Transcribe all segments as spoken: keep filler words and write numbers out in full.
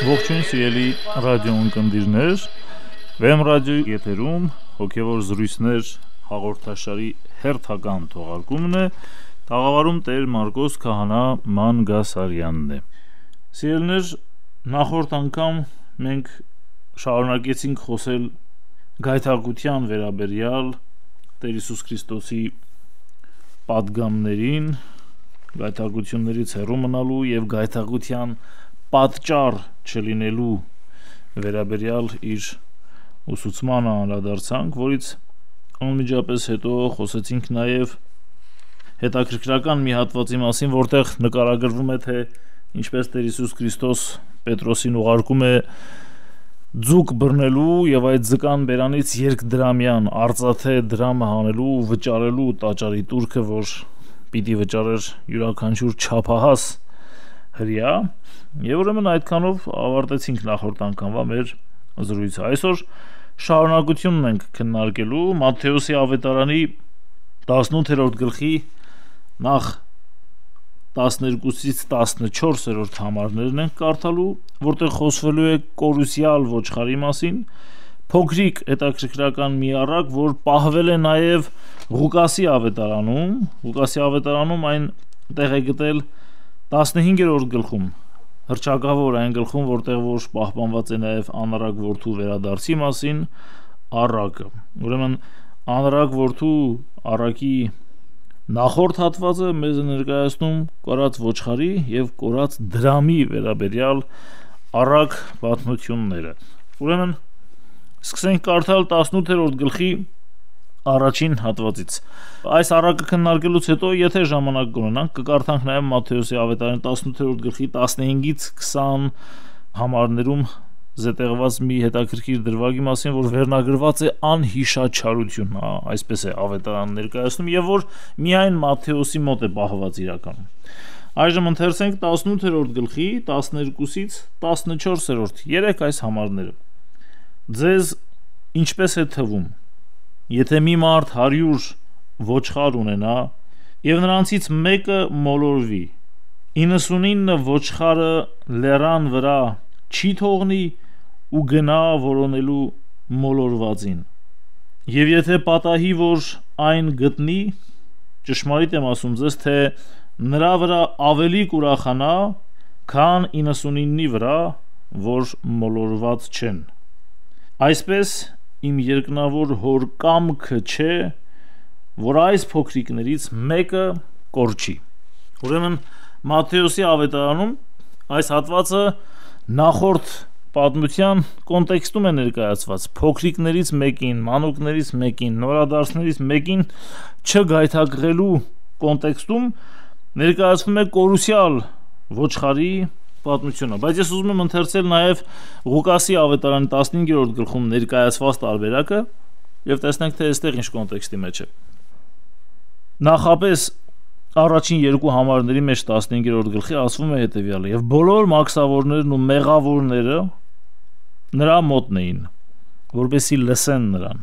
Ողջույն սիրելի ռադիո ունկնդիրներ, Վեմ ռադիոյի եթերում հոգևոր զրույցներ հաղորդաշարի հերթական թողարկումն է, տաղավարում Տեր Մարկոս Քահանա Մանգասարյանն է։ Սիրելիներ, նախորդ անգամ մենք շարունակեցինք խոսել գայթակղության վերաբերյալ Տեր Հիսուս Քրիստոսի պատգամներին, գայթակղություններից հեռու մնալու եւ գայթակղության պատճառ չլինելու վերաբերյալ իր ուսուցմանը անդրադարձանք, որից անմիջապես հետո խոսեցինք նաև հետաքրքրական մի հատվածի մասին, որտեղ նկարագրվում է, թե ինչպես Տեր Հիսուս Քրիստոս Պետրոսին ուղարկում է ձուկ բռնելու եւ այդ ձկան բերանից երկդրամյան արծաթե դրամը հանելու ու վճարելու տաճարի տուրքը, որ պիտի վճարեր յուրաքանչյուր չափահաս հրյա, եւ ուրեմն այդքանով ավարտեցինք նախորդ անգամվա մեր զրույցը։ Այսօր շարունակությունն ենք քննարկելու Մատթեոսի ավետարանի տասնութերորդ գլխի նախ տասներկուսից տասնչորսերորդ համարներն ենք կարդալու, որտեղ խոսվելու է կորուսյալ ոչխարի մասին, փոքրիկ հետաքրքրական մի առակ, որ պահվել է նաև Ղուկասի ավետարանում, Ղուկասի ավետարանում այն տեղ է գտել տասնհինգերորդ գլխում, հռչակավոր այն գլխում, որտեղ որ պահպանված է նաև անառակ որդու վերադարձի մասին առակը։ Ուրեմն անառակ որդու առակի նախորդ հատվածը մեզ ներկայացնում կորած ոչխարի եւ կորած դրամի վերաբերյալ առակ պատմությունները։ Ուրեմն սկսենք կարդալ տասնութերորդ գլխի առաջին հատվածից։ Այս առակը քննարկելուց հետո, եթե ժամանակ կունենանք, կկարդանք նաև Մատթեոսի ավետարանի տասնութերորդ գլխի տասնհինգից քսան համարներում զետեղված մի հետաքրքիր դրվագի մասին, որ վերնագրված է անհիշաչարություն, հա, այսպես է ավետարան ներկայացնում, եւ որ միայն Մատթեոսի մոտ է պահված իրականում։ Այժմ ընթերցենք տասնութերորդ գլխի տասներկուսից տասնչորսերորդ երեք այս համարները։ Ձեզ ինչպես է թվում, եթե մի մարդ հարյուր ոչխար ունենա եւ նրանցից մեկը մոլորվի, իննսունինը ոչխարը լեռան վրա չի թողնի ու գնա որոնելու մոլորվածին, եւ եթե պատահի, որ այն գտնի, ճշմարիտ եմ ասում ձեզ, թե նրա վրա ավելի կուրախանա, քան իննսունինի վրա, որ մոլորված չեն։ Այսպես իմ երկնավոր հոր կամքը չէ, որ այս փոքրիկներից մեկը կորչի։ Ուրեմն Մատթեոսի ավետարանում այս հատվածը նախորդ պատմության կոնտեքստում է ներկայացված, փոքրիկներից մեկին, մանուկներից մեկին, նորադարձներից մեկին չգայթակղելու կոնտեքստում ներկայացվում է կորուսյալ ոչխարի պատմությունը, բայց ես ուզում եմ ընթերցել նաև Ղուկասի ավետարանի տասնհինգերորդ գլխում ներկայացված տարբերակը եւ տեսնենք, թե այստեղ ինչ կոնտեքստի մեջ է։ Նախապես առաջին երկու համարների մեջ տասնհինգերորդ գլխի ասվում է հետեւյալը. եւ բոլոր մաքսավորներն ու մեղավորները նրա մոտն էին, որպեսզի լսեն նրան։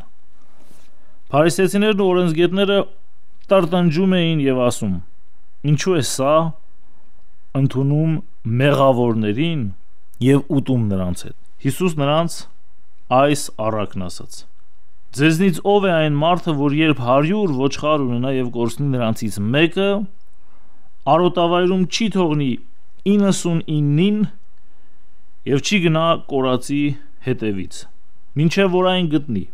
Փարիսեցիներն ու օրենսգետները տրտնջում էին եւ ասում. ինչու է սա ընդունում մեղավորներին եւ ուտում նրանց հետ։ Հիսուս նրանց այս առակն ասաց. ձեզնից ով է այն մարդը, որ երբ հարյուր ոչխար ունենա եւ կորցնի նրանցից մեկը, արոտավայրում չի թողնի իննսունինին եւ չի գնա կորածի հետևից, մինչեւ որ այն գտնի,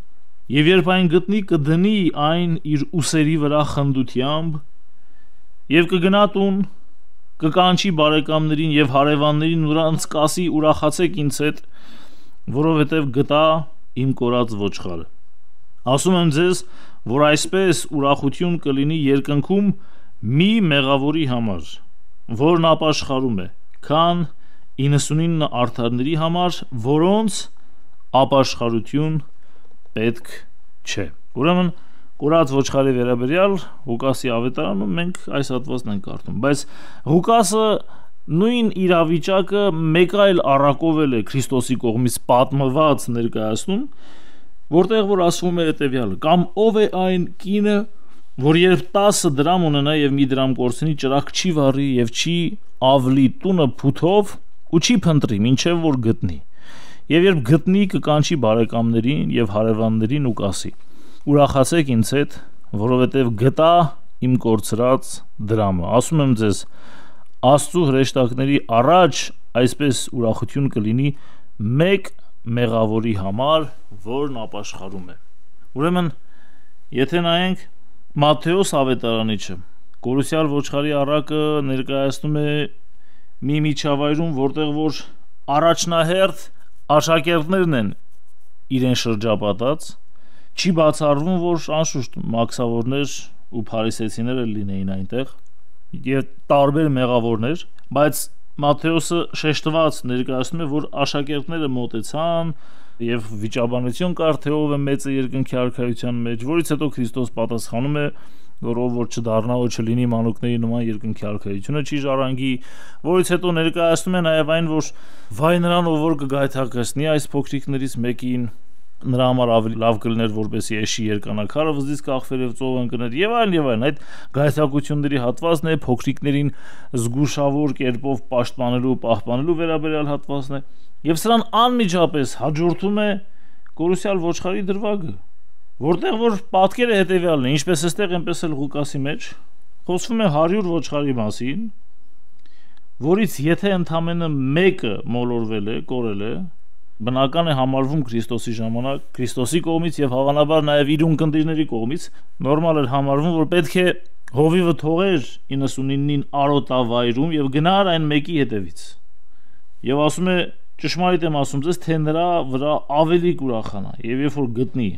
եւ երբ այն գտնի, կդնի այն իր ուսերի վրա խնդությամբ եւ կգնա տուն, կկանչի բարեկամներին եւ հարևաններին, նրանց կասի ուրախացեք ինձ հետ, որովհետեւ գտա իմ կորած ոչխարը։ Ասում եմ ձեզ, որ այսպես ուրախություն կլինի երկնքում մի մեղավորի համար, որն ապաշխարում է, քան իննսունինը արդարների համար, որոնց ապաշխարություն պետք չէ։ Ուրեմն կորած ոչխարի վերաբերյալ Ղուկասի ավետարանում մենք այս հատվածն ենք կարդում, բայց Ղուկասը նույն իրավիճակը մեկ այլ առակով է Քրիստոսի կողմից պատմված ներկայացնում, որտեղ որ ասվում է հետևյալը. կամ ով է այն կինը, որ երբ տասը դրամ ունենա եւ մի դրամ կորցնի, ճրագ չի վառի եւ չի ավլի տունը փութով ու չի փնտրի, մինչև որ գտնի։ Եվ երբ գտնի, կկանչի բարեկամներին եւ հարևաններին ու կասի. ուրախացեք ինձ հետ, որովհետև գտա իմ կորցրած դրամը։ Ասում եմ ձեզ, Աստծո հրեշտակների առաջ այսպես ուրախություն կլինի մեկ մեղավորի համար, որն ապաշխարում է։ Ուրեմն, եթե նայենք Մատթեոս ավետարանիչը, Կորուսյալ ոչխարի առակը ներկայացնում է մի միջավայրում, որտեղ որ առաջնահերթ աշակերտներն են իրեն շրջապատած, չի բացառվում, որ անշուշտ մաքսավորներ ու փարիսեցիներ լինեին այնտեղ եւ տարբեր մեղավորներ, բայց Մատթեոսը շեշտված ներկայացնում է, որ աշակերտները մոտեցան եւ վիճաբանություն կար, թե ով է մեծը երկնքի արքայության մեջ, որից հետո Քրիստոս պատասխանում է, որ ով որ չդառնա ու չլինի մանուկների նման երկնքի արքայությունը չի ժառանգի, որից հետո ներկայացնում է նաեւ այն, որ վայ նրան, ով որ կգայթակղեցնի այս փոքրիկներից մեկին, նրա համար ավելի լավ կլիներ, որպեսզի էշի երկանակարը վզից կախվեր եւ ծով ընկներ եւ այլն եւ այլն։ Այդ գայթակղությունների հատվածն է, փոքրիկներին զգուշավոր կերպով պաշտպանելու, պահպանելու վերաբերյալ հատվածն է, եւ սրան անմիջապես հաջորդում է Կորուսյալ ոչխարի դրվագը, որտեղ որ պատկերը հետեւյալն է, ինչպես էստեղ, այնպես էլ Ղուկասի մեջ խոսվում է հարյուր ոչխարի մասին, որից եթե ընդամենը մեկը մոլորվել է, կորել է, բնական է համարվում Քրիստոսի ժամանակ, Քրիստոսի կողմից եւ հավանաբար նաեւ իր ունկնդիրների կողմից նորմալ էր համարվում, որ պետք է հովիվը թողեր իննսունինին արոտավայրում եւ գնար այն մեկի հետևից։ Եվ ասում է, ճշմարիտ եմ ասում ձեզ, թե նրա վրա ավելի կուրախանա, եւ երբ որ գտնի,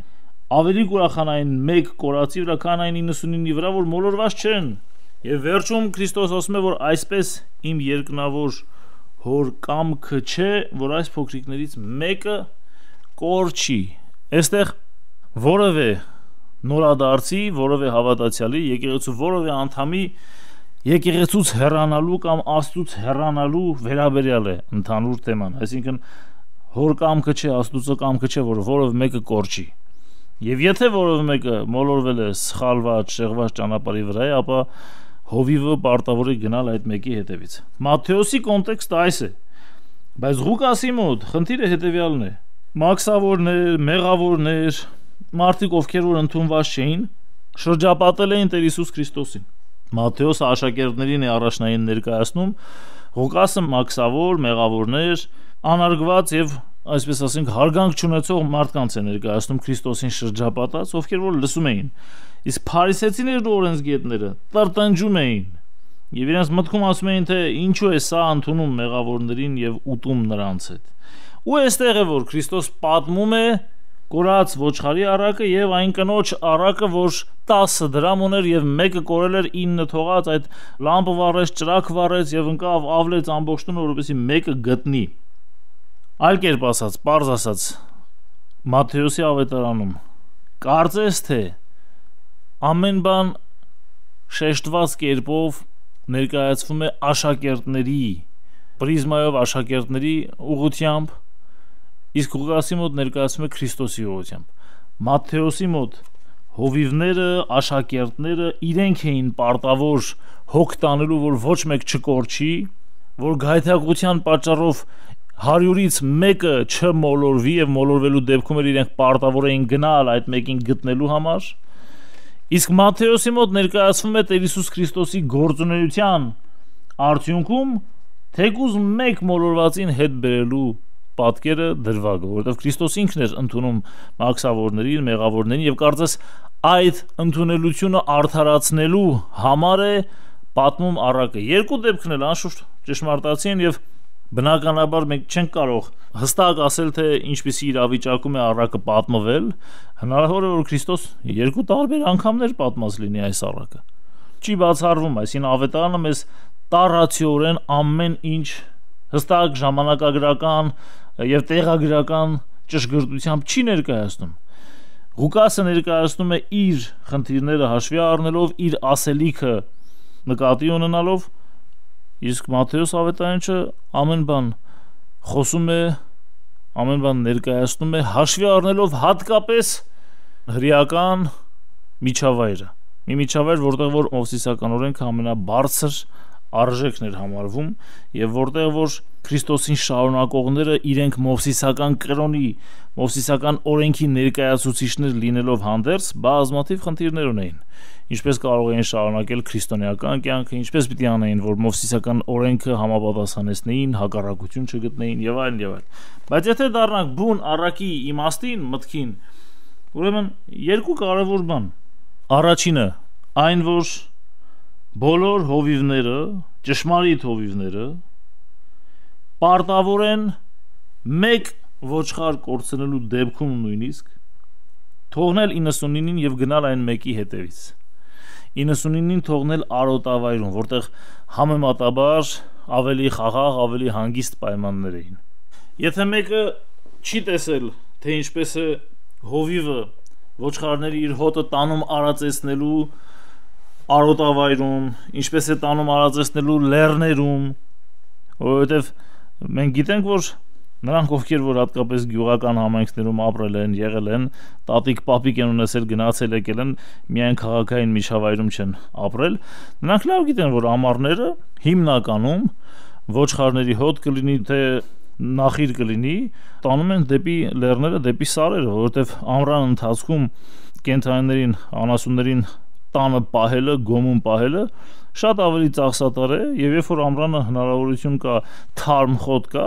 ավելի կուրախանա այն մեկ կորածի վրա, քան այն իննսունինի վրա, որ մոլորված չեն։ Եվ վերջում Քրիստոս ասում է, որ այսպես իմ երկնավոր հոր կամքը չէ, որ այս փոքրիկներից մեկը կորչի։ Այստեղ որևէ նորադարձի, որևէ հավատացյալի, եկեղեցու որևէ անդամի եկեղեցուց հեռանալու կամ Աստծուց հեռանալու վերաբերյալ է ընդհանուր թեման, այսինքն հոր կամքը չէ, Աստծո կամքը չէ, որ որևէ մեկը կորչի։ Եվ եթե որևէ մեկը մոլորվել է սխալված, շեղված ճանապարհի վրա, ապա հովիվը պարտավոր է գնալ այդ մեկի հետևից։ Մատթեոսի կոնտեքստը այս է, բայց Ղուկասի մոտ խնդիրը հետևյալն է. մաքսավորներ, մեղավորներ, մարդիկ, ովքեր որ ընդունված չէին, շրջապատել էին Տեր Հիսուս Քրիստոսին։ Մատթեոսը աշակերտներին է առաջնային ներկայացնում, Ղուկասը մաքսավոր, մեղավորներ, անարգված եւ այսպես ասենք հարգանք չունեցող մարդկանց է ներկայացնում Քրիստոսին շրջապատած, ովքեր որ լսում էին։ Իսկ փարիսեցիներն ու օրենսգետները տրտնջում էին եւ իրենց մտքում ասում էին, թե ինչու է սա ընդունում մեղավորներին եւ ուտում նրանց հետ։ Ու այստեղ է որ Քրիստոս պատմում է կորած ոչխարի առակը եւ այն կնոջ առակը, որ տասը դրամ ուներ եւ մեկը կորել էր ինը թողած, այդ լամպը վառեց, ճրակ վառեց եւ ընկավ ավլեց ամբողջ տունը, որովհետեւ մեկը գտնի։ Այլ կերպ ասած, պարզ ասած, Մատթեոսի ավետարանում կարծես թե ամեն բան շեշտված կերպով ներկայացվում է աշակերտների պրիզմայով, աշակերտների ուղղությամբ, իսկ Ղուկասի մոտ ներկայացվում է Քրիստոսի ուղղությամբ։ Մատթեոսի մոտ հովիվները, աշակերտները իրենք էին պարտավոր հոգ տանելու, որ ոչ մեկ չկորչի, որ գայթակղության պատճառով հարյուրից մեկը չմոլորվի եւ մոլորվելու դեպքում էլ իրենք պարտավոր էին գնալ այդ մեկին գտնելու համար։ Իսկ Մատթեոսի մոտ ներկայացվում է Տեր Հիսուս Քրիստոսի գործունեության արդյունքում թեկուզ մեկ մոլորվածին հետ բերելու պատկերը դրվագը, որովհետև Քրիստոս ինքն էր ընդունում մաքսավորներին, մեղավորներին եւ կարծես այդ ընդունելությունը արդարացնելու համար է պատմում առակը։ Երկու դեպքն էլ անշուշտ ճշմարտացի են եւ բնականաբար մենք չենք կարող հստակ ասել, թե ինչպիսի իրավիճակում է առակը պատմվել, հնարավոր է որ Քրիստոս երկու տարբեր անգամներ պատմած լինի այս առակը։ Չի բացառվում, այսինքն ավետարանը մեզ տառացիորեն ամեն ինչ հստակ ժամանակագրական եւ տեղագրական ճշգրտությամբ չի ներկայացնում։ Ղուկասը ներկայացնում է իր խնդիրները հաշվի առնելով, իր ասելիքը նկատի ունենալով, իսկ Մատթեոս ավետարանիչը ամեն բան խոսում է, ամեն բան ներկայացնում է հաշվի առնելով հատկապես հրեական միջավայրը։ Մի միջավայր, որտեղ որ մովսիսական օրենքը ամենաբարձր արժեքն էր համարվում եւ որտեղ որ Քրիստոսին շարունակողները իրենք մովսիսական կրոնի, մովսիսական օրենքի ներկայացուցիչներ լինելով հանդերձ բազմաթիվ խնդիրներ ունեին։ Ինչպես կարող էին շարունակել քրիստոնեական կյանքը, ինչպես պիտի անեին, որ մովսիսական օրենքը համապատասխանեցնեին, հակառակություն չգտնեին եւ այլն եւ այլն։ Բայց եթե դառնանք բուն առակի իմաստին, մտքին, ուրեմն երկու կարևոր բան։ Առաջինը այն, որ բոլոր հովիվները, ճշմարիտ հովիվները պարտավոր են մեկ ոչխար կորցնելու դեպքում նույնիսկ թողնել իննսունինին եւ գնալ այն մեկի հետևից։ իննսունինին թողնել արոտավայրում, որտեղ համեմատաբար ավելի խաղաղ, ավելի հանգիստ պայմաններ էին։ Եթե մեկը չի տեսել, թե ինչպես է հովիվը ոչխարների իր հոտը տանում արածեցնելու արոտավայրում, ինչպես է տանում արածեցնելու լեռներում, որովհետև մենք գիտենք, որ նրանք, ովքեր որ հատկապես գյուղական համայնքներում ապրել են, եղել են, տատիկ, պապիկ են ունեցել, գնացել եկել են, միայն քաղաքային միջավայրում չեն ապրել, նրանք լավ գիտեն, որ ամառները հիմնականում ոչխարների հոտ կլինի, թե նախիր կլինի, տանում են դեպի լեռները, դեպի սարերը, որովհետև ամռան ընթացքում կենդանիներին, անասուններին տանը պահելը, գոմում պահելը շատ ավելի ծախսատար է, եւ երբ որ ամռանը հնարավորություն կա, թարմ խոտ կա,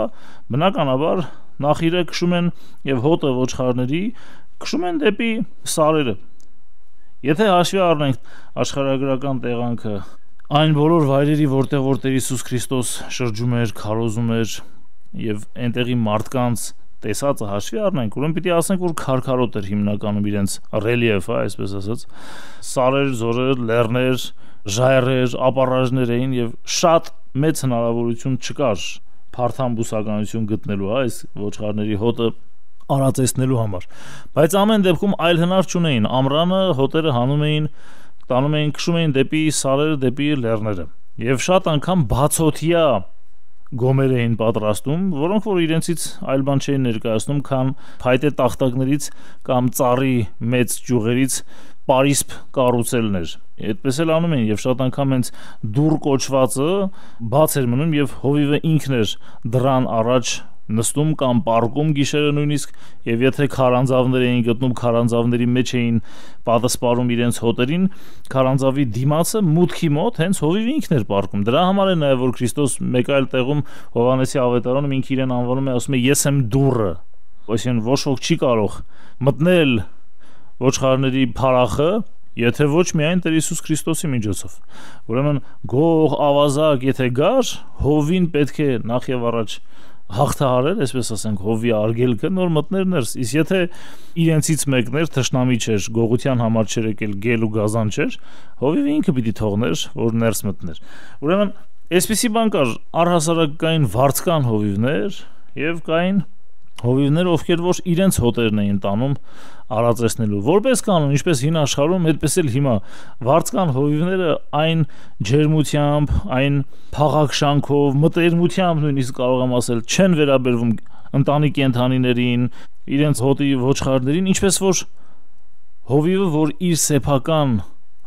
բնականաբար նախիրը քշում են եւ հոտը ոչխարների քշում են դեպի սարերը։ Եթե հաշվի առնենք աշխարհագրական տեղանքը, այն բոլոր վայրերի, որտեղ որ Տեր Հիսուս Քրիստոս շրջում էր, քարոզում էր եւ այնտեղի մարդկանց տեսածը հաշվի առնենք, ուրեմն պիտի ասենք, որ քարքարոտ էր հիմնականում իրենց ռելիեֆը, այսպես ասած, սարեր, զորեր, լեռներ, ժայռեր, ապառաժներ էին եւ շատ մեծ հնարավորություն չկար փարթամ բուսականություն գտնելու, այս ոչխարների հոտը արածեցնելու համար։ Բայց ամեն դեպքում այլ հնար չունեին, ամռանը հոտերը հանում էին, տանում էին, քշում էին դեպի սարերը, դեպի լեռները եւ շատ անգամ բացօթյա գոմեր էին պատրաստում, որոնք որ իրենցից այլ բան չէին ներկայացնում, քան փայտե տախտակներից կամ ծառի մեծ ճյուղերից պարիսպ կառուցելներ։ Այդպես էլ անում էին եւ շատ անգամ հենց դուռ կոչվածը բաց էր մնում եւ հովիվը ինքն էր դրան առաջ նստում կամ պարկում գիշերը նույնիսկ, եւ եթե քարանձավներ էին գտնում, քարանձավների մեջ էին պատասպարում իրենց հոտերին, քարանձավի դիմացը մուտքի մոտ հենց հովիվը ինքն էր պարկում։ Դրա համար է նաեւ որ Քրիստոս մեկ այլ տեղում Հովհաննեսի ավետարանում ինքը իրեն անվանում է, ասում է ես եմ դուռը, այսինքն ոչ ոք չի կարող մտնել ոչխարների փարախը, եթե ոչ միայն Տեր Հիսուս Քրիստոսի միջոցով։ Ուրեմն գող, ավազակ, եթե գար, հովին պետք է նախ եւ առաջ հաղթահարել, այսպես ասենք, հովի արգելքը, նոր մտներ ներս, իսկ եթե իրենցից մեկն էր, թշնամի չէր, գողության համար չէր եկել, գել ու գազան չէր, հովիվը ինքը պիտի թողներ, որ ներս մտներ։ Ուրեմն այսպիսի բան կար, առհասարակ կային վարձկան հովիվներ եւ կային հովիվներ, ովքեր որ իրենց հոտերն էին տանում արածեցնելու։ Որպես կանոն, ինչպես հին աշխարհում, այդպես էլ հիմա վարձկան հովիվները այն ջերմությամբ, այն փաղաքշանքով, մտերմությամբ նույնիսկ կարող եմ ասել, չեն վերաբերվում ընտանի կենդանիներին, իրենց հոտի ոչխարներին, ինչպես որ հովիվը, որ իր սեփական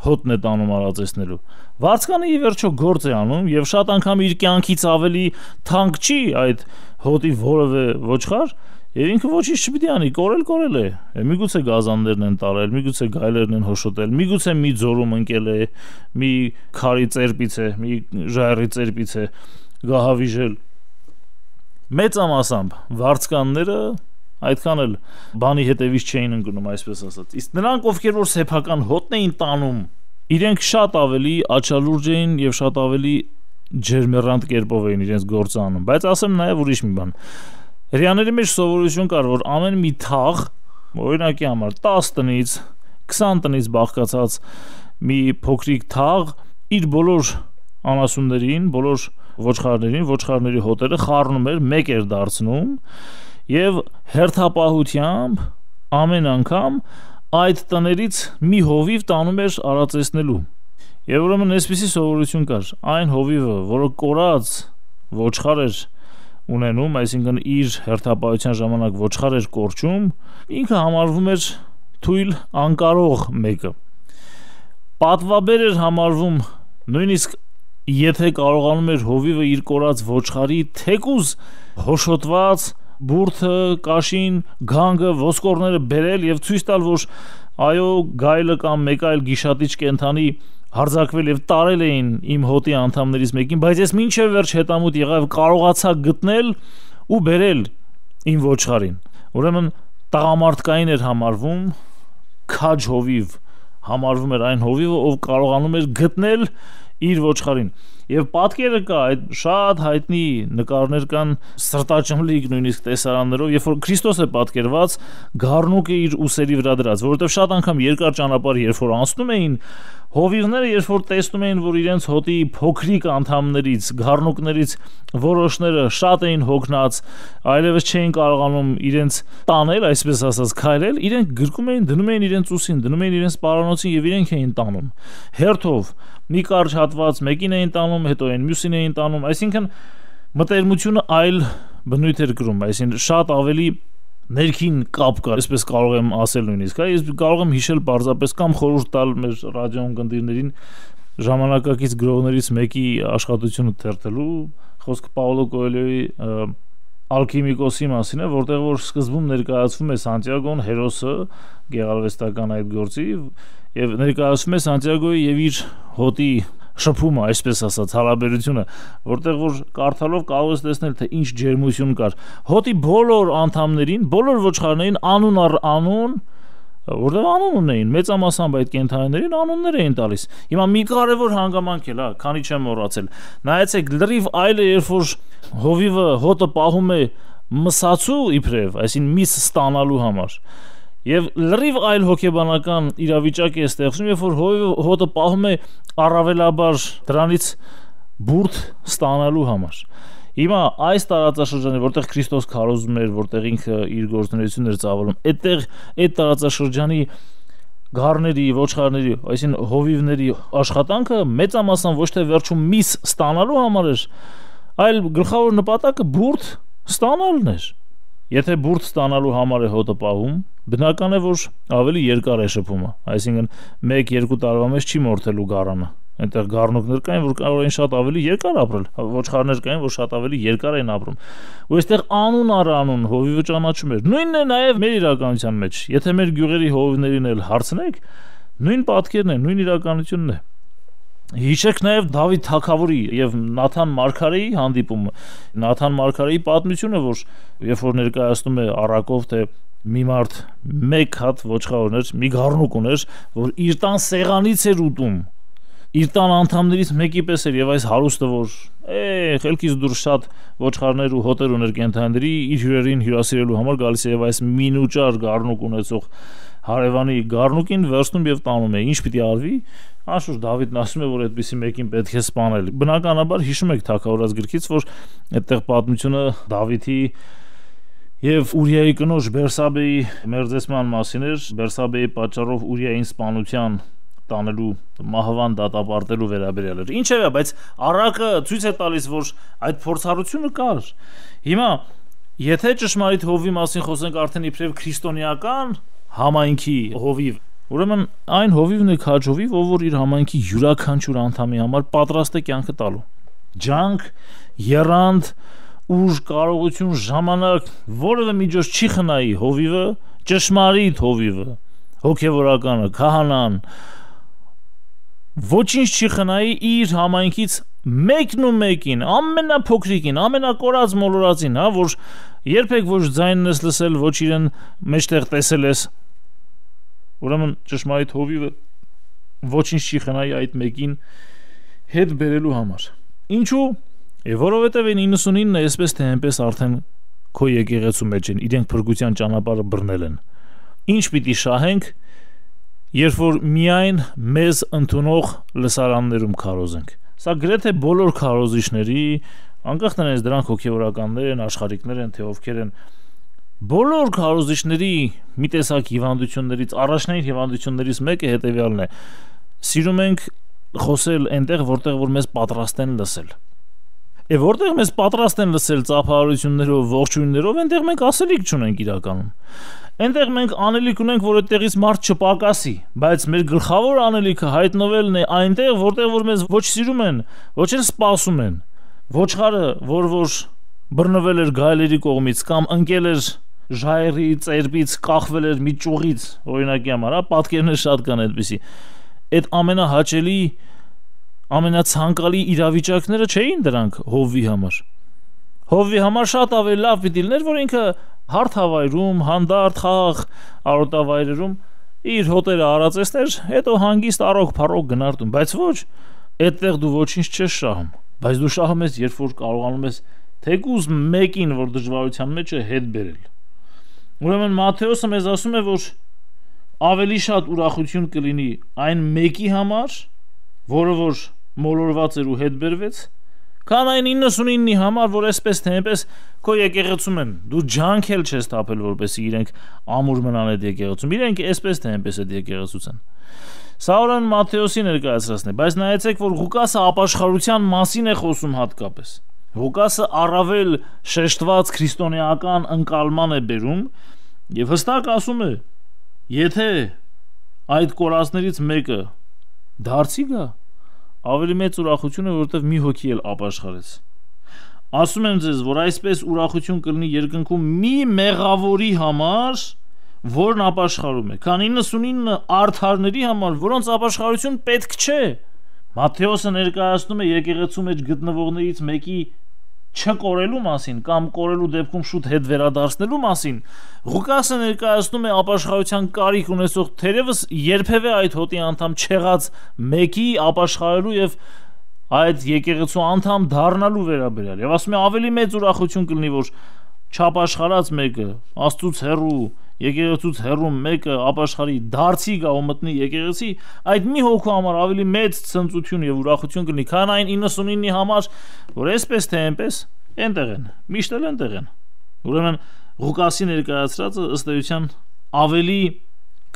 հոտն է տանում արածեցնելու։ Վարձկանը ի վերջո գործ է անում եւ շատ անգամ իր կյանքից ավելի թանկ չի այդ հոտի որևէ ոչխար եւ ինքը ոչինչ չպիտի անի, կորել կորել է։ Միգուցե գազաններն են տարել, միգուցե գայլերն են հոշոտել, միգուցե մի ձորում ընկել է, մի քարի ծերպից է, մի ժայռի ծերպից է գահավիժել։ Մեծամասամբ վարձկանները այդքան էլ բանի հետևից չէին ընկնում, այսպես ասած։ Իսկ նրանք, ովքեր որ սեփական հոտն էին տանում, իրենք շատ ավելի աչալուրջ էին եւ շատ ավելի ջերմեռանդ կերպով էին իրենց գործը անում։ Բայց ասեմ նաեւ ուրիշ մի բան։ Հрьяաների մեջ սովորություն կար, որ ամեն մի թաղ, օրինակի համար տասը տնից, քսան տնից բաղկացած մի փոքրիկ թաղ իր բոլոր անասուններին, բոլոր ոչխարներին, ոչխարների հոտերը խառնում էր, մեկ էր դարձնում եւ հերթապահությամբ ամեն անգամ այդ տներից մի հովիվ տանում էր արածեցնելու։ Եվ ուրեմն այսպիսի սովորություն կար, այն հովիվը, որը կորած ոչխար էր ունենում, այսինքն իր հերթապահության ժամանակ ոչխար էր կորչում, ինքը համարվում էր թույլ անկարող մեկը։ Պատվաբեր էր համարվում նույնիսկ եթե կարողանում էր հովիվը իր կորած ոչխարի թեկուզ հոշոտված բուրդը, կաշին, գանգը, ոսկորները բերել եւ ցույց տալ, որ այո, գայլը կամ մեկ այլ գիշատիչ կենդանի հարձակվել եւ տարել էին իմ հոտի անդամներից մեկին, բայց ես մինչեւ վերջ հետամուտ եղա եւ կարողացա գտնել ու բերել իմ ոչխարին։ Ուրեմն տղամարդկային էր համարվում, քաջ հովիվ համարվում էր այն հովիվը, ով կարողանում էր գտնել իր ոչխարին։ Եվ պատկերը կա, այդ շատ հայտնի նկարներ կան սրտաճմլիկ նույնիսկ տեսարաններով, երբ որ Քրիստոս է պատկերված գառնուկը իր ուսերի վրա դրած, որովհետև շատ անգամ երկար ճանապարհ երբ որ անցնում էին, հովիվները երբ որ տեսնում էին, որ իրենց հոտի փոքրիկ անդամներից, գառնուկներից որոշները շատ էին հոգնած, այլևս չէին կարողանում իրենց տանել, այսպես ասած, քայլել, իրենք գրկում էին, դնում էին իրենց ուսին, դնում էին իրենց պարանոցին եւ իրենք էին տանում։ Հերթով մի կարճ հատված մեկին էին տանում, հետո այն մյուսին էին տանում, այսինքն մտերմությունը այլ բնույթ էր կրում, այսինքն շատ ավելի ներքին կապ կար, այսպես կարող եմ ասել նույնիսկ, հա, ես կարող եմ հիշել պարզապես կամ խորհուրդ տալ մեր ռադիոյն գնդիրներին ժամանակակից գրողներից մեկի աշխատությունը թերթելու, խոսքը Պաուլո Կոելյոյի Ալքիմիկոսի մասին է, որտեղ որ սկզբում ներկայացվում է Սանտիագոն հերոսը գեղարվեստական այդ գործի եւ ներկայացվում է Սանտիագոյի եւ իր հոտի շփումը, այսպես ասած, հարաբերությունը, որտեղ որ կարդալով կարող ես տեսնել, թե ինչ ջերմություն կար։ Հոտի բոլոր անդամներին, բոլոր ոչխարներին անուն առ անուն, որտեղ անուն ունեին, մեծամասամբ այդ կենդանիներին անուններ էին տալիս։ Հիմա մի կարևոր հանգամանք էլ, հա, քանի չեմ մոռացել։ Նայեցեք, լրիվ այլ է, երբ որ հովիվը հոտը պահում է մսացու իբրև, այսինքն միս ստանալու համար։ Եվ լրիվ այլ հոգեբանական իրավիճակ է ստեղծում, երբ որ հովիվը հոտը պահում է առավելաբար դրանից բուրդ ստանալու համար։ Հիմա այս տարածաշրջանը, որտեղ Քրիստոս քարոզում էր, որտեղ ինքը իր գործունեությունն էր ծավալում, այդտեղ այդ տարածաշրջանի գառների, ոչխարների, այսինքն հովիվների աշխատանքը մեծամասամբ ոչ թե վերջում միս ստանալու համար էր, այլ գլխավոր նպատակը բուրդ ստանալն էր։ Եթե բուրդ ստանալու համար է հոտը պահում, բնական է, որ ավելի երկար է շփումը, այսինքն մեկ-երկու տարվա մեջ չի մորթելու գառանը։ Այնտեղ գառնուկներ կային, որ կարող էին շատ ավելի երկար ապրել, ոչխարներ կային, որ շատ ավելի երկար էին ապրում։ Ու այստեղ անուն առ անուն հովիվը ճանաչում էր։ Նույնն է նաև մեր իրականության մեջ։ Եթե մեր գյուղերի հովիվներին էլ հարցնեք, նույն պատկերն է, նույն իրականությունն է։ Հիշեք նաև Դավիթ թագավորի եւ Նաթան մարգարեի հանդիպումը։ Նաթան մարգարեի պատմությունը, որ երբ որ ներկայացնում է առակով, թե մի մարդ մեկ հատ ոչխար ուներ, մի գառնուկ ուներ, որ իր տան սեղանից էր ուտում։ Իր տան անդամներից մեկի պես էր եւ այս հարուստը, որ է խելքից դուրս շատ ոչխարներ ու հոտեր ուներ կենդանիների, իր հյուրերին հյուրասիրելու համար գալիս է եւ այս մինուճար գառնուկ ունեցող հարևանի գառնուկին վերցնում եւ տանում է։ Ինչ պիտի արվի։ Անշուշտ Դավիթն ասում է, որ այդպիսի մեկին պետք է սպանել։ Բնականաբար հիշում եք թագավորած գրքից, որ այդտեղ պատմությունը Դավիթի եւ Ուրիայի կնոջ Բերսաբեի մերձեցման մասին էր, Բերսաբեի պատճառով Ուրիային սպանության տանելու մահվան դատապարտելու վերաբերյալ էր։ Ինչևէ, բայց առակը ցույց է տալիս, որ այդ փորձառությունը կար։ Հիմա, եթե ճշմարիտ հովի մասին խոսենք արդեն իբրև քրիստոնեական համայնքի հովիվ, ուրեմն այն հովիվն է քաջ հովիվ, ով որ իր համայնքի յուրաքանչյուր անդամի համար պատրաստ է կյանքը տալու։ Ջանք, եռանդ, ուժ, կարողություն, ժամանակ, որևէ միջոց չի խնայի հովիվը, ճշմարիտ հովիվը, հոգևորականը, քահանան, ոչինչ չի խնայի իր համայնքից մեկն ու մեկին, ամենափոքրիկին, ամենակորած մոլորածին, հա, որ երբեք ոչ ձայնն ես լսել, ոչ իրեն մեջտեղ տեսել ես։ Ուրեմն ճշմարիտ հովիվը ոչինչ չի խնայի այդ մեկին հետ բերելու համար։ Ինչու՞։ Եվ որովհետև այն իննսունինը այսպես թե այնպես արդեն քո եկեղեցու մեջ են, իրենք փրկության ճանապարհը բռնել են։ Ինչ պիտի շահենք, երբ որ միայն մեզ ընդունող լսարաններում քարոզենք։ Սա գրեթե բոլոր քարոզիչների, անկախ նրանից դրանք հոգևորականներ են, աշխարհիկներ են, թե ովքեր են, բոլոր քարոզիչների մի տեսակ հիվանդություններից, առաջնային հիվանդություններից մեկը հետևյալն է. սիրում ենք խոսել այնտեղ, որտեղ որ մեզ պատրաստ են լսել։ Է որտեղ մեզ պատրաստ են լսել ծափահարություններով, ողջույններով, այնտեղ մենք ասելիք չունենք իրականում։ Այնտեղ մենք անելիք ունենք, որ այդտեղից մարդ չպակասի, բայց մեր գլխավոր անելիքը հայտնվելն է այնտեղ, որտեղ որ մեզ ոչ սիրում են, ոչ էլ սպասում են։ Ոչխարը, որ որ բռնվել էր գայլերի կողմից կամ ընկել էր ժայռի ծերբից, կախվել էր մի ճյուղից, օրինակի համար, հա, պատկերներ շատ կան այդպիսի։ Այդ ամենահաճելի, ամենացանկալի իրավիճակները չէին դրանք հովվի համար։ Հովվի համար շատ ավելի լավ պիտի լիներ, որ ինքը հարթ հավայրում, հանդարտ խաղ արոտավայրերում իր հոտերը արածեցներ, հետո հանգիստ առոք փառոք գնար տուն, բայց ոչ, այդտեղ դու ոչինչ չես շահում, բայց դու շահում ես, երբ որ կարողանում ես թեկուզ մեկին, որ դժվարության մեջ է, հետ բերել։ Ուրեմն Մատթեոսը մեզ ասում է, որ ավելի շատ ուրախություն կլինի այն մեկի համար, որը որ մոլորված էր ու հետ բերվեց, քան այն իննսունինի համար, որ այսպես թե այնպես քո եկեղեցում են, դու ջանքել չես թափել, որպեսզի իրենք ամուր մնան այդ եկեղեցում, իրենք այսպես թե այնպես այդ եկեղեցուց են։ Սա ուրեմն Մատթեոսի ներկայացրածն է, բայց նայեցեք, որ Ղուկասը ապաշխարության մասին է խոսում հատկապես։ Ղուկասը առավել շեշտված քրիստոնեական ընկալման է բերում եւ հստակ ասում է. եթե այդ կորածներից մեկը դարձի գա, ավելի մեծ ուրախություն է, որովհետեւ մի հոգի էլ ապաշխարեց։ Ասում եմ ձեզ, որ այսպես ուրախություն կլինի երկնքում մի մեղավորի համար, որն ապաշխարում է, քան իննսունինը արդարների համար, որոնց ապաշխարություն պետք չէ։ Մատթեոսը ներկայացնում է եկեղեցու մեջ գտնվողներից մեկի չկորելու մասին կամ կորելու դեպքում շուտ հետ վերադարձնելու մասին։ Ղուկասը ներկայացնում է ապաշխարության կարիք ունեցող թերևս երբևէ այդ հոտի անդամ չեղած մեկի ապաշխարելու եւ այդ եկեղեցու անդամ դառնալու վերաբերյալ։ Եվ ասում է ավելի մեծ ուրախություն կլինի, որ չապաշխարած մեկը, Աստծուց հեռու, եկեղեցուց հեռու մեկը ապաշխարի, դարձի գա ու մտնի եկեղեցի, այդ մի հոգու համար ավելի մեծ ցնծություն եւ ուրախություն կլինի, քան այն իննսունինի համար, որ այսպես թե այնպես այնտեղ են, միշտ էլ այնտեղ են։ Ուրեմն Ղուկասի ներկայացրածը ըստ էության ավելի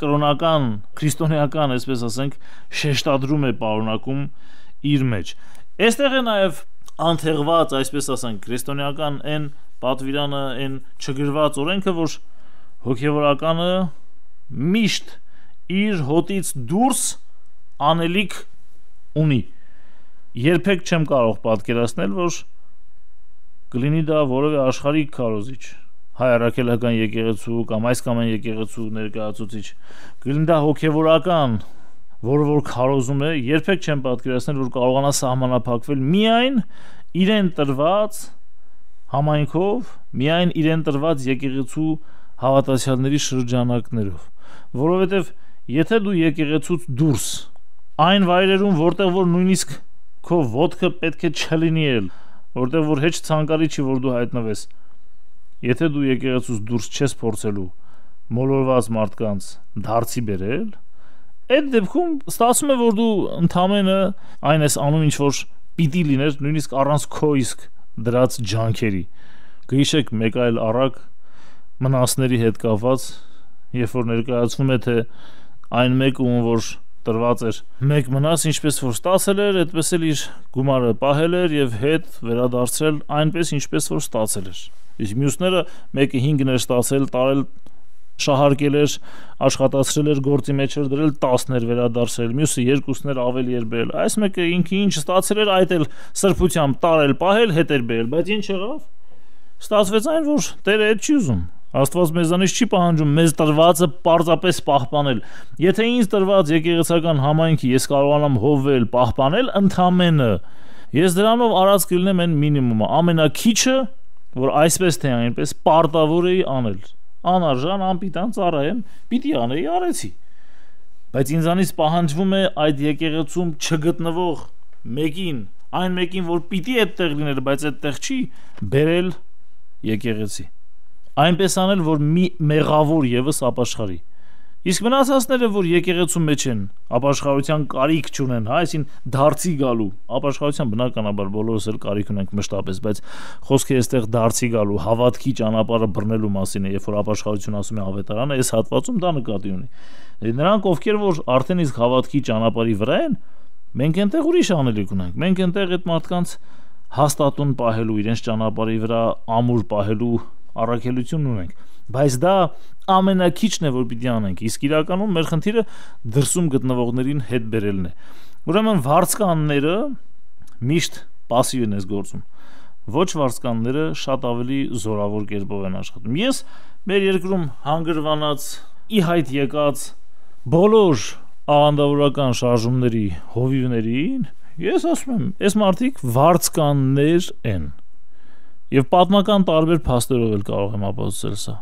կրոնական, քրիստոնեական, այսպես ասենք, շեշտադրում է պարունակում իր մեջ։ Այստեղ է նաեւ անթեղված, այսպես ասենք, քրիստոնեական այն պատվիրանը, այն չգրված օրենքը, որ հոգևորականը միշտ իր հոտից դուրս անելիք ունի։ Երբեք չեմ կարող պատկերացնել, որ կլինի դա որևէ աշխարհիկ քարոզիչ, հայ առաքելական եկեղեցու կամ այս կամ այն եկեղեցու ներկայացուցիչ, կլինի դա հոգևորական, որը որ քարոզում է, երբեք չեմ պատկերացնել, որ կարողանա սահմանափակվել միայն իրեն տրված համայնքով, միայն իրեն տրված եկեղեցու հավատացյալների շրջանակներով, որովհետև եթե դու եկեղեցուց դուրս այն վայրերում, որտեղ որ նույնիսկ քո ոտքը պետք է չլինի էլ, որտեղ որ հեչ ցանկալի չի, որ դու հայտնվես, եթե դու եկեղեցուց դուրս չես փորձելու մոլորված մարդկանց դարձի բերել, այդ դեպքում ստացվում է, որ դու ընդամենը այն ես անում, ինչ որ պիտի լիներ, նույնիսկ առանց քո իսկ դրած ջանքերի։ Գիշեք մեկ այլ առակ մնասների հետ կապված, երբ որ ներկայացվում է, թե այն մեկը, ում որ տրված էր մեկ մնաս, ինչպես որ ստացել էր, այդպես էլ իր գումարը պահել էր եւ հետ վերադարձրել այնպես, ինչպես որ ստացել էր։ Իսկ մյուսները մեկը հինգն էր ստացել, տարել, շահարկել էր, աշխատացրել էր, գործի մեջ էր դրել, տասն էր վերադարձրել, մյուսը երկուսն էր ավելի էր բերել։ Այս մեկը ինքը ինչ ստացել էր, այդ էլ սրբությամբ տարել, պահել, հետ էր բերել, բայց ինչ եղավ։ Ստացվեց այն, որ Տերը այդ չի ուզում։ Աստված մեզանից չի պահանջում մեզ տրվածը պարզապես պահպանել։ Եթե ինձ տրված եկեղեցական համայնքի ես կարողանամ հովվել, պահպանել ընդամենը, ես դրանով արած կլինեմ այն մինիմումը, ամենաքիչը, որ այսպես թե այնպես պարտավոր էի անել։ Անարժան, անպիտան ծառայեմ, պիտի անեի, արեցի։ Բայց ինձանից պահանջվում է այդ եկեղեցում չգտնվող մեկին, այն մեկին, որ պիտի այդտեղ լիներ, բայց այդտեղ չի, բերել եկեղեցի։ Այնպես անել, որ մի մեղավոր եւս ապաշխարի։ Իսկ մնացածները, որ եկեղեցու մեջ են, ապաշխարության կարիք չունեն, հա, այսին դարձի գալու, ապաշխարության բնականաբար բոլորս էլ կարիք ունենք մշտապես, բայց խոսքը այստեղ դարձի գալու, հավատքի ճանապարհը բռնելու մասին է, երբ որ ապաշխարություն ասում է ավետարանը, այս հատվածում դա նկատի ունի։ Նրանք, ովքեր որ արդեն իսկ հավատքի ճանապարհի վրա են, մենք այնտեղ ուրիշ անելիք ունենք։ Մենք այնտեղ այդ մարդկանց հաստատուն պահելու, իրենց ճանապարհի վրա ամուր պահելու առաքելություն ունենք, բայց դա ամենակիչն է, որ պիտի անենք, իսկ իրականում մեր խնդիրը դրսում գտնվողներին հետ բերելն է։ Ուրեմն վարձկանները միշտ пассив են գործում, ոչ վարձկանները շատ ավելի զորավոր կերպով են աշխատում։ Ես մեր երկրում հանգրվանած ի հայտ եկած բոլոր աղանդավորական շարժումների հովիվներին ես ասում եմ, այս մարդիկ վարձկաններ են, եւ պատմական տարբեր փաստերով էլ կարող եմ ապացուցել սա։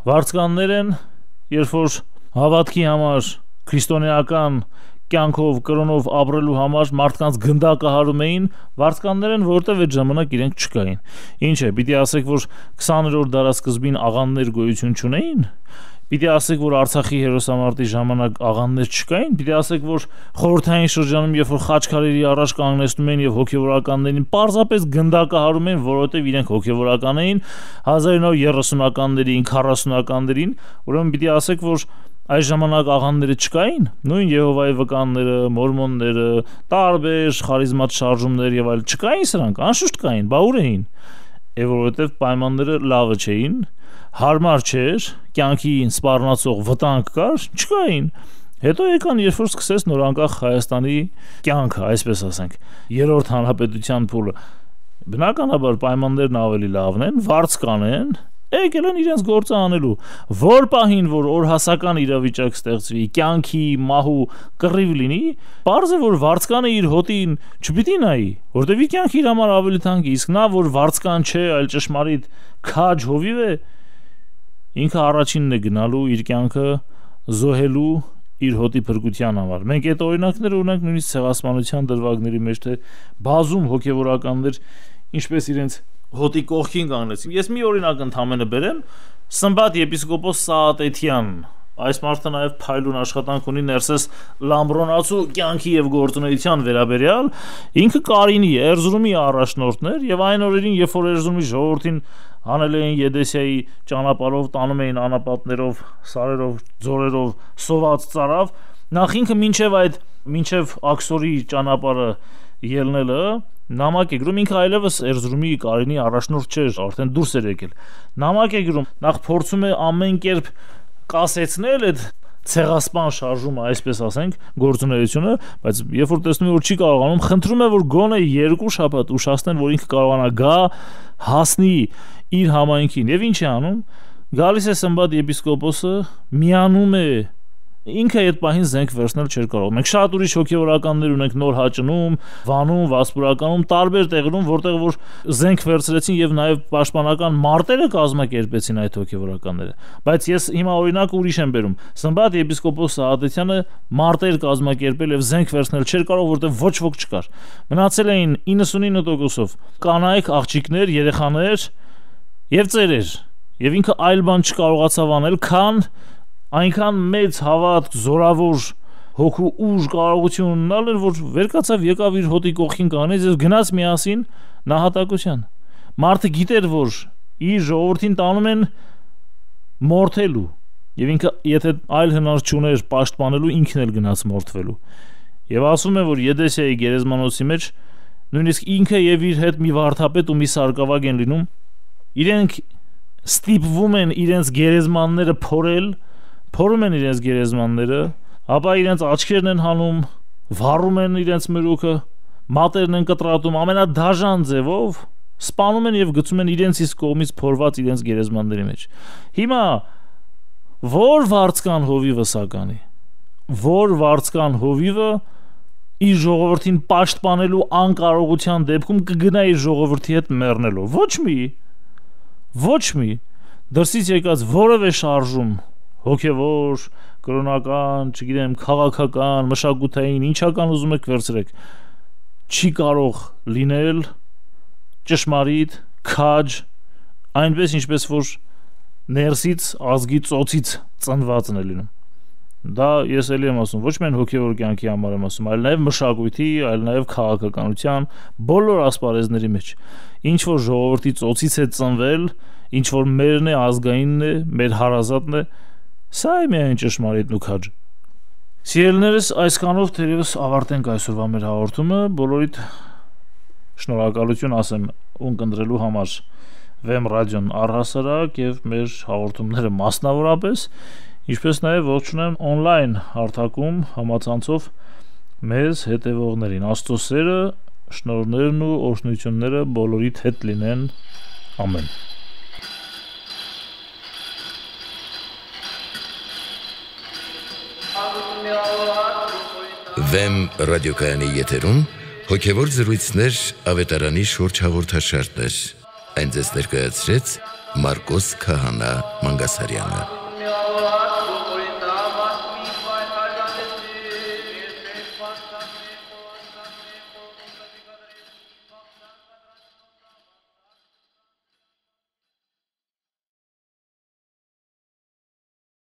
Վարձկաններ են, երբ որ հավատքի համար քրիստոնեական կյանքով, կրոնով ապրելու համար մարդկանց գնդակահարում էին, վարձկաններ են, որտեղ այդ ժամանակ իրենք չկային։ Ինչ է, պիտի ասեք, որ քսաներորդ դարաշրջին աղանդներ գոյություն չունեին։ Պիտի ասեք, որ Արցախի հերոսամարտի ժամանակ աղանդներ չկային, պիտի ասեք, որ խորհրդային շրջանում, երբ որ խաչքարերի առաջ կանգնեցնում էին եւ հոգեվորականներին պարզապես գնդակահարում էին, որովհետեւ իրենք հոգեվորական էին հազար ինը հարյուր երեսունականներին, քառասունականներին, ուրեմն պիտի ասեք, որ այս ժամանակ աղանդները չկային, նույն Եհովայի վկանները, մորմոնները, տարբեր խարիզմատ շարժումներ եւ այլ չկային սրանք, անշուշտ կային, բա ուր էին։ Եվ որովհետեւ պայմանները լավը չէին, հարմար չէր, կյանքին սպառնացող վտանգ կար, չկային։ Հետո եկան, երբ որ սկսեց նորանկախ Հայաստանի կյանքը, այսպես ասենք, երրորդ հանրապետության փուլը։ Բնականաբար պայմաններն ավելի լավն են, վարձ կանեն, եկել են իրենց գործը անելու։ Որ պահին, որ օրհասական իրավիճակ ստեղծվի, կյանքի, մահու կռիվ լինի, պարզ է, որ վարձկանը իր հոտին չպիտի նայի, որտեղ կյանքը իր համար ավելի թանկ է, իսկ նա, որ վարձկան չէ, այլ ճշմարիտ քաջ հովիվ է, ինքը առաջինն է գնալու իր կյանքը զոհելու իր հոտի փրկության համար։ Մենք այդ օրինակները ունենք նույնիսկ ցեղասպանության դրվագների մեջ, թե բազում հոգևորականներ ինչպես իրենց հոտի կողքին կանգնեցին։ Ես մի օրինակ ընդհանրապես բերեմ, Սմբատ եպիսկոպոս Սաատեթյան, այս մարդը նաև փայլուն աշխատանք ունի Ներսես Լամբրոնացու կյանքի եւ գործունեության վերաբերյալ, ինքը Կարինի Էրզրումի առաջնորդն էր եւ այն օրերին, երբ որ Էրզրումի ժողովրդին հանել էին Եդեսիայի ճանապարհով, տանում էին անապատներով, սարերով, ձորերով սոված ծարավ, նախ ինքը մինչև այդ մինչև Աքսորի ճանապարհը ելնելը նամակ է գրում, ինքը այլևս Էրզրումի Կարինի առաջնորդ չէր, արդեն դուրս էր եկել։ Նամակ է գրում, նախ փորձում է ամեն կերպ կասեցնել այդ ցեղասպան շարժումը, այսպես ասենք, գործունեությունը, բայց երբ որ տեսնում է, որ չի կարողանում, խնդրում է, որ գոնե երկու շաբաթ ուշացնեն, որ ինքը կարողանա գա, հասնի իր համայնքին։ Եվ ինչ է անում։ Գալիս է Սմբատ եպիսկոպոսը, միանում է, ինքը այդ պահին զենք վերցնել չէր կարող։ Մենք շատ ուրիշ հոգևորականներ ունենք Նոր Հաճնում, Վանում, Վասպուրականում, տարբեր տեղերում, որտեղ որ զենք վերցրեցին եւ նաեւ պաշտպանական մարտերը կազմակերպեցին այդ հոգևորականները։ Բայց ես հիմա օրինակ ուրիշ եմ բերում։ Սմբատ եպիսկոպոս Սաատեթյանը մարտեր կազմակերպել եւ զենք վերցնել չէր կարող, որտեղ ոչ ոք չկար։ Մնացել էին իննսունինը տոկոսով կանայք, աղջիկներ, երեխաներ եւ ծերեր։ Եվ ինքը այլ բան չկարողացավ անել, քան այնքան մեծ հավատք, զորավոր հոգու ուժ կարողություն ունենալ էր, որ վերկացավ եկավ իր հոտի կողքին կանեց եւ գնաց միասին նահատակության։ Մարդը գիտեր, որ իր ժողովրդին տանում են մորթելու, եւ ինքը եթե այլ հնար չուներ պաշտպանելու, ինքն էլ գնաց մորթվելու։ Եվ ասում է, որ Եդեսիայի գերեզմանոցի մեջ նույնիսկ ինքը եւ իր հետ մի վարդապետ ու մի սարկավագ են լինում, իրենք ստիպվում են իրենց գերեզմանները փորել, փորում են իրենց գերեզմանները, ապա իրենց աչքերն են հանում, վառում են իրենց մրուքը, մատերն են կտրատում ամենադաժան ձևով, սպանում են եւ գցում են իրենց իսկ կողմից փորված իրենց գերեզմանների մեջ։ Հիմա որ վարձկան հովիվը սականի, որ վարձկան հովիվը իր ժողովրդին պաշտպանելու անկարողության դեպքում կգնա իր ժողովրդի հետ մեռնելու։ Ոչ մի ոչ մի դրսից եկած որևէ շարժում հոգևոր, կրոնական, չգիտեմ, քաղաքական, մշակութային, ինչական ուզում եք վերցրեք, չի կարող լինել ճշմարիտ, քաջ, այնպես ինչպես որ ներսից ազգի ծոցից ծնվածն է լինում։ Դա ես էլի եմ ասում, ոչ միայն հոգևոր կյանքի համար եմ ասում, այլ նաև մշակույթի, այլ նաև քաղաքականության բոլոր ասպարեզների մեջ։ Ինչ որ ժողովրդի ծոցից է ծնվել, ինչ որ մերն է, ազգայինն է, մեր հարազատն է, սա է միայն ճշմարիտն ու քաջը։ Սիրելիներս, այսքանով թերևս ավարտենք այսօրվա մեր հաղորդումը, բոլորիդ շնորհակալություն ասեմ ունկնդրելու համար Վեմ ռադիոն առհասարակ եւ մեր հաղորդումները մասնավորապես, ինչպես նաեւ ողջունեմ on-line հարթակում համացանցով մեզ հետևողներին։ Աստծո սերը, շնորհներն ու օրհնությունները բոլորիդ հետ լինեն։ Ամեն։ Վեմ ռադիոկայանի եթերում հոգևոր զրույցներ ավետարանի շուրջ հաղորդաշարներ։ Այն ձեզ ներկայացրեց Մարկոս Քահանա Մանգասարյանը։